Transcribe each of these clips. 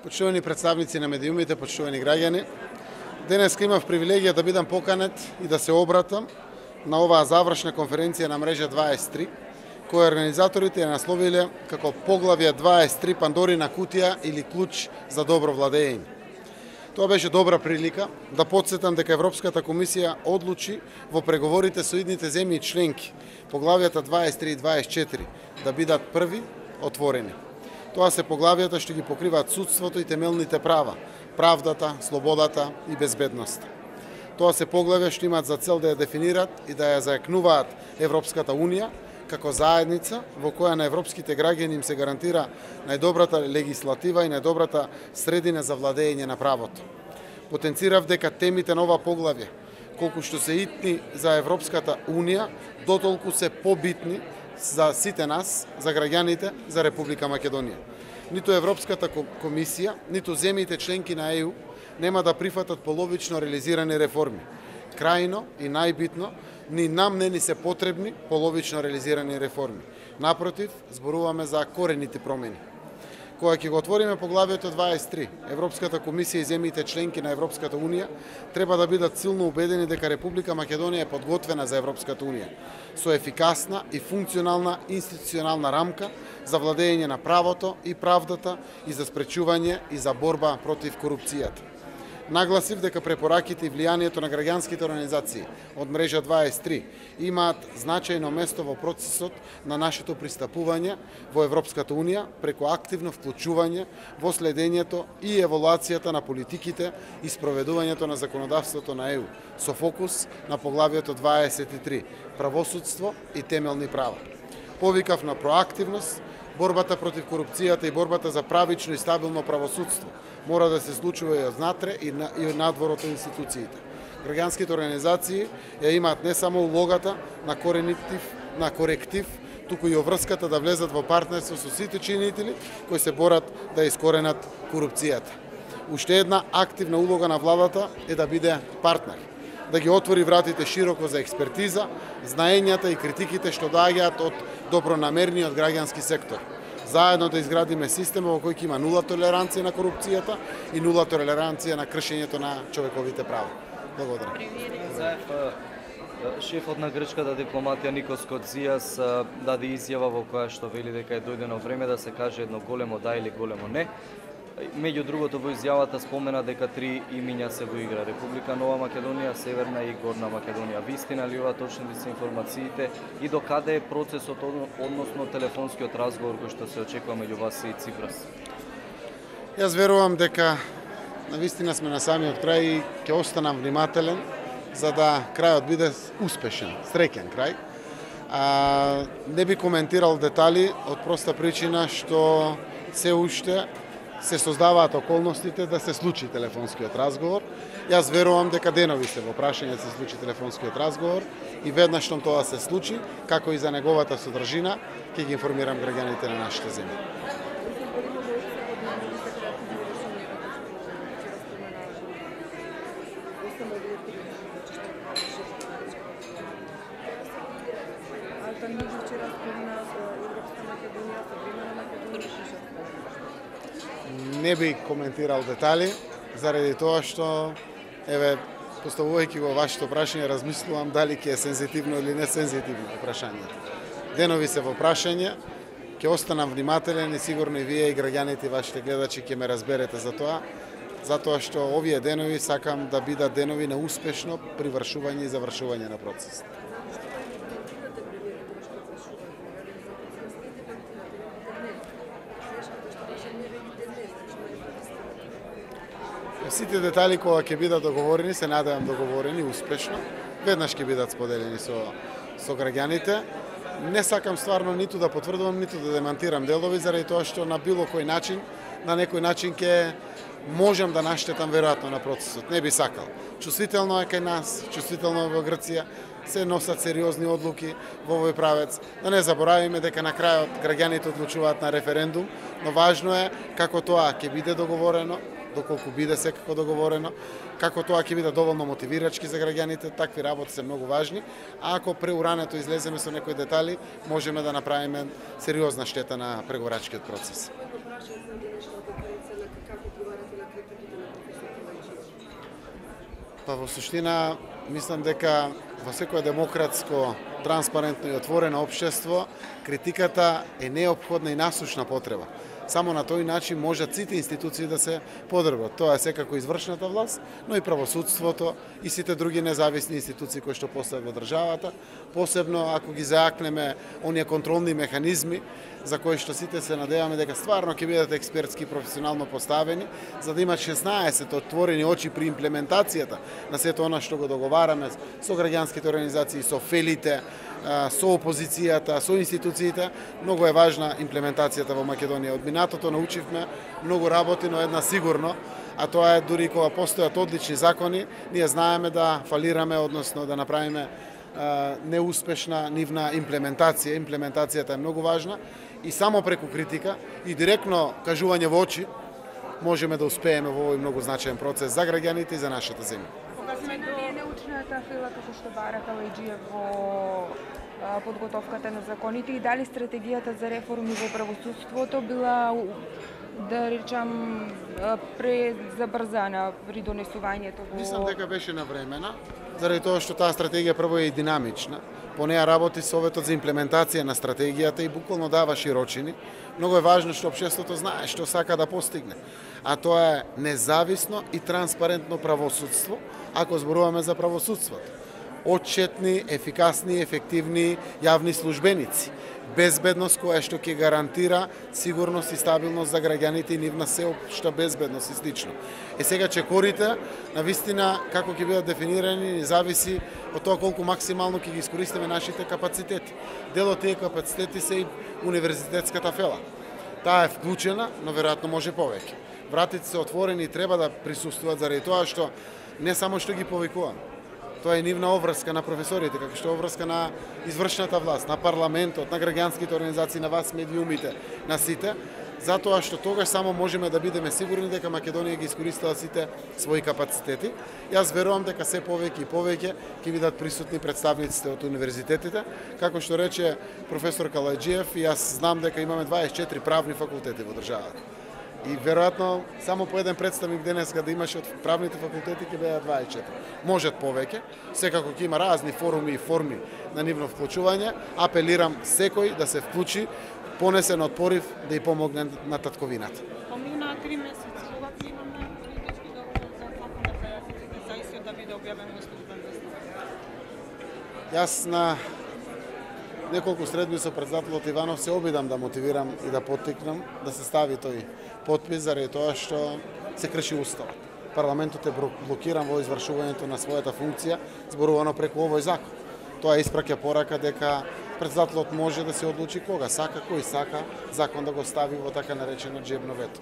Почитувани представници на медиумите, почитувани граѓани, денес имав привилегија да бидам поканет и да се обратам на оваа завршна конференција на мрежа 23, која организаторите ја насловиле како поглавје 23 Пандорина кутија или клуч за добро владење. Тоа беше добра прилика да потсетам дека Европската комисија одлучи во преговорите со идните земји членки поглавјата 23 и 24 да бидат први отворени. Тоа се поглавјата што ги покриваат судството и темелните права, правдата, слободата и безбедноста. Тоа се поглавја што имаат за цел да ја дефинираат и да ја зајакнуваат Европската Унија како заедница во која на европските граѓани им се гарантира најдобрата легислатива и најдобрата средина за владење на правото. Потенцирав дека темите на ова поглавје, колку што се итни за Европската Унија, дотолку се побитни за сите нас, за граѓаните, за Република Македонија. Ниту Европската комисија, ниту земјите членки на ЕУ нема да прифатат половично реализирани реформи. Крајно и најбитно, ни нам не ни се потребни половично реализирани реформи. Напротив, зборуваме за корените промени. Кога ќе го отвориме поглавјето 23, Европската комисија и земјите членки на Европската Унија треба да бидат силно убедени дека Република Македонија е подготвена за Европската Унија, со ефикасна и функционална институционална рамка за владење на правото и правдата и за спречување и за борба против корупцијата. Нагласив дека препораките и влијанието на граѓанските организации од мрежа 23 имаат значајно место во процесот на нашето пристапување во Европската Унија преку активно вклучување во следењето и еволуацијата на политиките и спроведувањето на законодавството на ЕУ, со фокус на поглавјето 23 правосудство и темелни права. Повикав на проактивност, борбата против корупцијата и борбата за правично и стабилно правосудство мора да се случува и однатре и надвор од институциите. Граѓанските организации ја имаат не само улогата на коректив, туку и обврската да влезат во партнерство со сите чинители кои се борат да искоренат корупцијата. Уште една активна улога на владата е да биде партнер, да ги отвори вратите широко за експертиза, знаењата и критиките што доаѓаат од добронамерниот граѓански сектор. Заедно да изградиме система во кој ќе има нула толеранција на корупцијата и нула толеранција на кршењето на човековите права. Благодарам. Шефот на грчката дипломатија Никос Кодзијас даде изјава во која што вели дека е дојдено време да се каже едно големо да или големо не. Меѓу другото во изјавата спомена дека три имиња се во игра: Република Нова Македонија, Северна и Горна Македонија. Вистина ли ова, точни ли се информациите и до каде е процесот односно телефонскиот разговор кој што се очекува меѓу вас и Ципрас? Јас верувам дека навистина сме на самиот крај и ќе останам внимателен за да крајот биде успешен, среќен крај. Не би коментирал детали од проста причина што се уште се создаваат околностите да се случи телефонскиот разговор. Јас верувам дека денови се во прашање да се случи телефонскиот разговор и веднаш што тоа се случи, како и за неговата содржина, ќе ги информирам граѓаните на нашите земји. Не би коментирал детали, заради тоа што, поставувајќи го вашето прашање, размислувам дали ќе е сензитивно или не сензитивно прашање. Денови се во прашање, ќе останам внимателен и сигурно и вие и граѓаните и вашите гледачи ќе ме разберете за тоа, затоа што овие денови сакам да бидат денови на успешно привршување и завршување на процесот. Сите детали кога ќе бидат договорени, се надевам договорени успешно, веднаш ќе бидат споделени со граѓаните. Не сакам стварно ниту да потврдувам, ниту да демантирам делови, заради тоа што на било кој начин, на некој начин ќе можам да наштетам веројатно на процесот. Не би сакал. Чувствително е кај нас, чувствително е во Грција, се носат сериозни одлуки во овој правец. Да не заборавиме дека на крајот граѓаните одлучуваат на референдум, но важно е како тоа ќе биде договорено, доколку биде секако договорено, како тоа ќе биде доволно мотивирачки за граѓаните, такви работи се многу важни, а ако преурането излеземе со некои детали, можеме да направиме сериозна штета на преговорачкиот процес. како одговарате на критиките на професор Калајджиев? Па во суштина мислам дека во секое демократско, транспарентно и отворено општество критиката е неопходна и насушна потреба. Само на тој начин можат сите институции да се подобрат. Тоа е секако извршната власт, но и правосудството и сите други независни институции кои што постојат во државата, посебно ако ги заакнеме оние контролни механизми за кои што сите се надеваме дека стварно ќе бидат експертски и професионално поставени, за да имат 16 отворени очи при имплементацијата на сето она што го договараме со граѓанските организации, со фелите, со опозицијата, со институциите. Многу е важна имплементацијата во Македонија. Од минатото научивме многу работи, но една сигурно, а тоа е дури кога постојат одлични закони, ние знаеме да фалираме, односно да направиме неуспешна нивна имплементација. Имплементацијата е многу важна и само преку критика и директно кажување во очи можеме да успееме во овој многу значаен процес за граѓаните и за нашата земја. Кога сме до научната фила како што бара Калајджиев во подготовката на законите и дали стратегијата за реформи во правосудството била, да речам, презабрзана при донесувањето во... Мислам дека беше навремена, заради тоа што таа стратегија прво е и динамична. По неја работи Советот за имплементација на стратегијата и буквално дава широчини. Многу е важно што општеството знае што сака да постигне. А тоа е независно и транспарентно правосудство, ако зборуваме за правосудството. Отчетни, ефикасни, ефективни јавни службеници. Безбедност која што ќе гарантира сигурност и стабилност за граѓаните и нивна сеопшта безбедност и слично. Сега чекорите, навистина, како ќе бидат дефинирани, не зависи од тоа колку максимално ќе ги искористиме нашите капацитети. Дел од тие капацитети се и универзитетската фела. Таа е вклучена, но веројатно може повеќе. Вратите се отворени и треба да присуствуваат заради тоа што не само што ги повикуваме. Тоа е нивна обврска на професорите, како што е обврска на извршната власт, на парламентот, на граѓанските организации, на вас медиумите, на сите, затоа што тогаш само можеме да бидеме сигурни дека Македонија ги искористила сите своји капацитети. Јас верувам дека се повеќе и повеќе ќе бидат присутни представниците од универзитетите, како што рече професор Калајджиев, и јас знам дека имаме 24 правни факултети во државата. И веројатно само по еден представник денеска да имаше од правните факултети ќе бидат 24. Можат повеќе, секако ќе има разни форуми и форми на нивно вклучување. Апелирам секој да се вклучи, понесен од порив да и помогне на татковината. Помина 3 месеци, кога ќе имаме политички договор за законот за истиот да биде објавен во службен вестник? Јас на неколку средби со председателот Иванов се обидам да мотивирам и да поттикнам да се стави тој подпис заради тоа што се крши уставот. Парламентот е блокиран во извршувањето на својата функција, зборувано преку овој закон. Тоа испраќа порака дека председателот може да се одлучи кога сака, кој сака закон да го стави во така наречено джебно вето.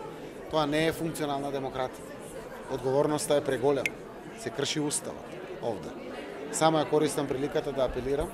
Тоа не е функционална демократија. Одговорноста е преголема. Се крши уставот овде. Само ја користам приликата да апелирам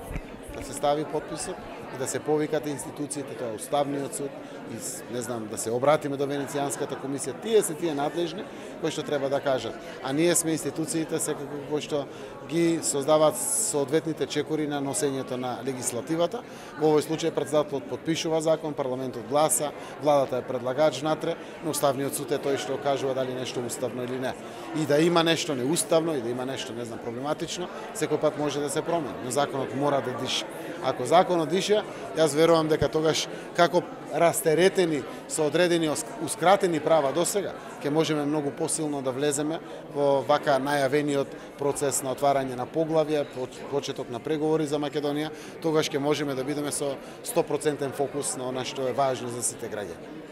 да се стави подписот и да се повикат институциите, тоа е Уставниот суд, и не знам, да се обратиме до Венецијанската комисија. Тие се тие надлежни кои што треба да кажат. А ние сме институциите секако кои што ги создаваат соодветните чекори на носењето на легислативата. Во овој случај председателот потпишува закон, парламентот гласа, владата е предлагач внатре, но Уставниот суд е тој што кажува дали нешто уставно или не. И да има нешто неуставно и да има нешто, не знам, проблематично, секој пат може да се промени, но законот мора да дише. Ако законот дише, јас верувам дека тогаш како растеретени со одредени ускратени права досега, ќе можеме многу посилно да влеземе во вака најавениот процес на отварање на поглавја, почеток на преговори за Македонија, тогаш ќе можеме да бидеме со 100% фокус на она што е важно за сите граѓани.